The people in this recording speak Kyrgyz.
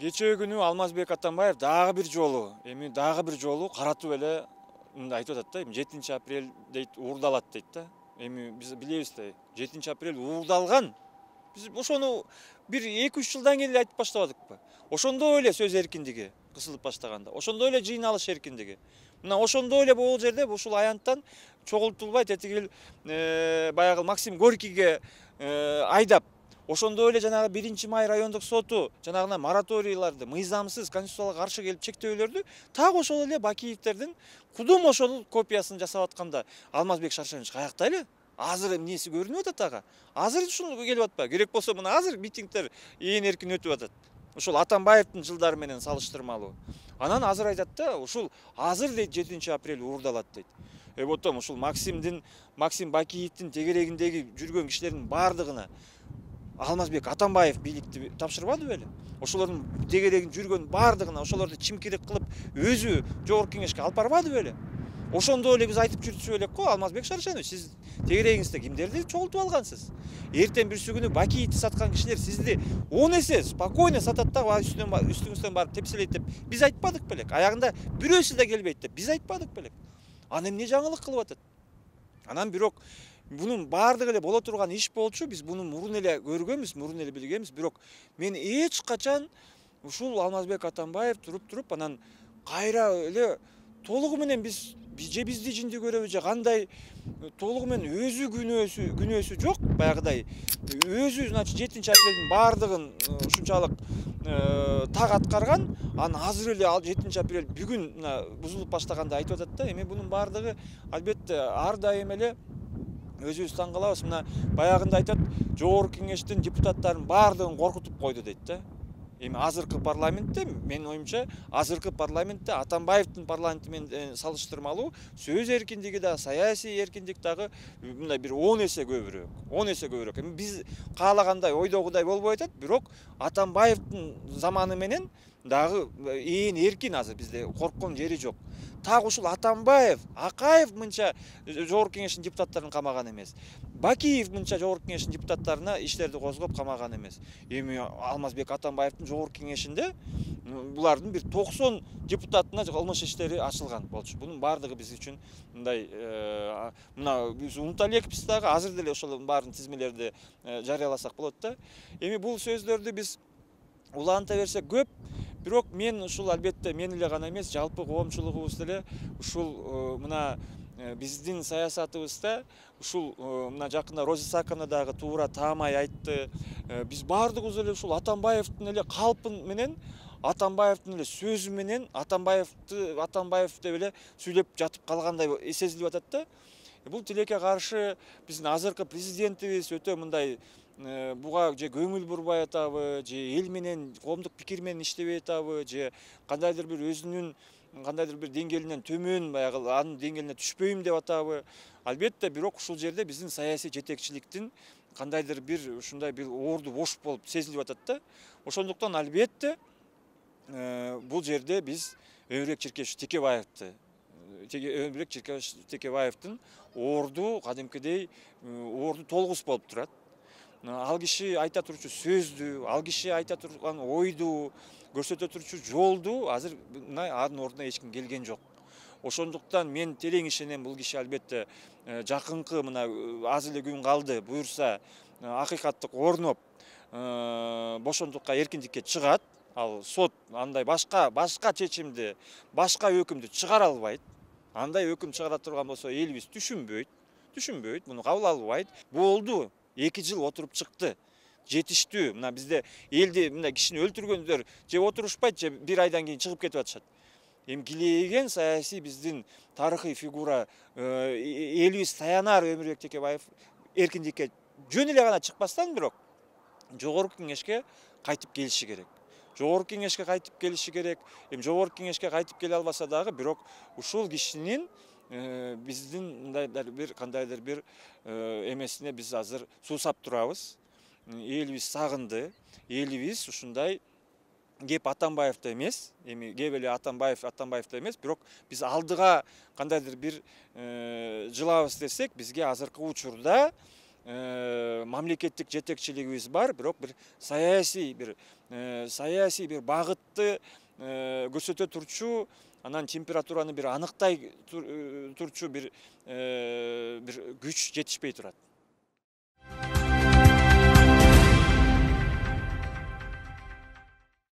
Кечээ күнү Алмазбек Атамбаев дагы бир жолу каратып эле мындай айтып атат да, 7 апрель дейт, уурдалат дейт да. Эми биз билебиз да, 7 апрель уурдалган. Биз ошону бир 2-3 жылдан кийин эле айтып баштабадыкпы? Ошондой эле сөз эркиндиги кысылып баштаганда, ошондой эле жыйналыш эркиндиги. Мына ошондой эле бул жерде ушул аянттан чогултулбай тетигил баягы Максим Горькийге айдап, ошондой эле жанагы 1-май райондук соту жанагына мораторийларды мыйзамсыз, конституцияга каршы келип чектөөлөрдү так ошол эле Бакиевтердин кудум ошол копиясын жасап атканда Алмазбек Шаршенович каякта эле? Азыр эмнеси көрүнүп атат ага? Азыр ушул келип атпайбы? Керек болсо мына азыр митингдер ээн эркин өтүп атат. Ушул Атамбаевдин жылдары менен салыштырмалуу. Анан азыр айтат да, ушул азыр дейт 7 апрель уурдалат дейт. Потом ушул Максим Бакиевдин тегерегиндеги жүргөн кишилердин бардыгына Алмазбек Атамбаев бийликти тапшырбады беле? Ошолордун тегерегин жүргөн бардыгына ошолорду чимкирик кылып өзү жогорку кеңешке алып барбады беле? Ошондой эле биз айтып жүрчү элек го, Алмазбек Шаршенович, сиз тегерегиңизде кимдерди чогултуп алгансыз? Эртең бүрсү күнү Бакиевди саткан кишилер сизди 10 эсе спокойно сатат да, үстүңүздөн барып тепселейт деп биз айтпадык белек? Аягында бирөөсү да келбейт деп биз айтпадык белек? Аны эмне жаңылык кылып атат? Анан бирок бунун баардыгы эле боло турган иш болчу, биз муну мурун эле көргөнбүз, мурун эле билгенбиз, бирок мен эч качан ушул Алмазбек Атамбаев туруп анан кайра эле толугу менен бизди жинди көрөбү же кандай толугу менен өзү күнөөсү жок, баягыдай өзү, значит, 7 апрелдин баардыгын ушунчалык так аткарган, анан азыр эле ал 7 апрель бүгүн бузулуп баштаганда айтып атат да. Эми бунун баардыгы албетте ар дайым эле өзүбүз таң калабыз. Мына баягында айтат, жогорку кеңештин депутаттарын баардыгын коркутуп койду дейт да. Эми азыркы парламентте, менин оюмча, азыркы парламентте Атамбаевдин парламенти менен салыштырмалуу сөз эркиндиги да, саясий эркиндик дагы мындай бир 10 эсе көбүрөөк. 10 эсе көбүрөөк. Эми биз каалагандай, ойдогудай болбой атат, бирок Атамбаевдин заманы менен дагы ээн эркин, азыр бизде корккон жери жок. Так ушул Атамбаев, Акаев мынча жогорку кеңештин депутаттарын камаган эмес. Бакиев мынча жогорку кеңештин депутаттарына иштерди козгоп камаган эмес. Эми Алмазбек Атамбаевдин жогорку кеңешинде булардын бир 90 депутатына кылмыш иштери ачылган болчу. Бунун баардыгы биз үчүн мындай мына биз унута элекпиз дагы, азыр деле ошолордун баарын тизмелерди жарыяласак болот да. Эми бул сөздөрдү биз уланта берсек көп, бирок мен ушул албетте мен эле гана эмес, жалпы коомчулугубуз деле ушул мына биздин саясатыбызда ушул мына жакында Роза Исааковна дагы туура таамай айтты. Биз баардыгыбыз эле ушул Атамбаевдин эле калпын менен, Атамбаевдин эле сөзү менен, Атамбаев деп эле сүйлөп жатып калгандай сезилип атат да. Бул тилекке каршы биздин азыркы президентибиз өтө мындай буга же көңүл бурбай атабы, же эл менен коомдук пикир менен иштебей атабы, же кандайдыр бир өзүнүн кандайдыр бир деңгээлинен төмөн, баягы анын деңгээлине түшпөйм деп атабы. Албетте, бирок ушул жерде биздин саясий жетекчиликтин кандайдыр бир ушундай бир орду бош болуп сезилип атат да. Ошондуктан албетте бул жерде биз Өмүрбек Текебаевдин орду кадимкидей орду толгус болуп турат. Ал киши айта турчу сөздү, ал киши айта турган ойду, көрсөтө турчу жолду азыр анын ордуна эч ким келген жок. Ошондуктан мен терең ишенем, бул киши албетте жакынкы мына аз эле күн калды, буюрса акыйкаттык орноп, бошондукка, эркиндикке чыгат. Ал сот андай башка чечимди, башка өкүмдү чыгара албайт. Андай өкүм чыгара турган болсо элибиз түшүнбөйт, муну кабыл албайт. Болду. 2 жыл отуруп чыкты. Жетиштүү. Мына бизде элди мына кишини өлтүргөндөр же отурушпайт, же 1 айдан кийин чыгып кетип атышат. Эми килейген саясий биздин тарыхый фигура элибиз таянар Өмүрбек Текебаев эркиндикке жөн эле гана чыкпастан, бирок жогорку кеңешке кайтып келиши керек. Жогорку кеңешке кайтып келиши керек. Эми жогорку кеңешке кайтып келе албаса дагы, бирок ушул кишинин биздин кандайдыр бир эмесине биз азыр суусап турабыз. Элибиз сагынды. Элибиз ушундай кеп Атамбаевда эмес, эми кеп эле Атамбаевда эмес, бирок биз алдыга кандайдыр бир жылабыз десек, бизге азыркы учурда мамлекеттик жетекчилигибиз бар, бирок бир саясий бир багытты көрсөтө турчу, анан температураны бир аныктай турчу бир күч жетишпей турат.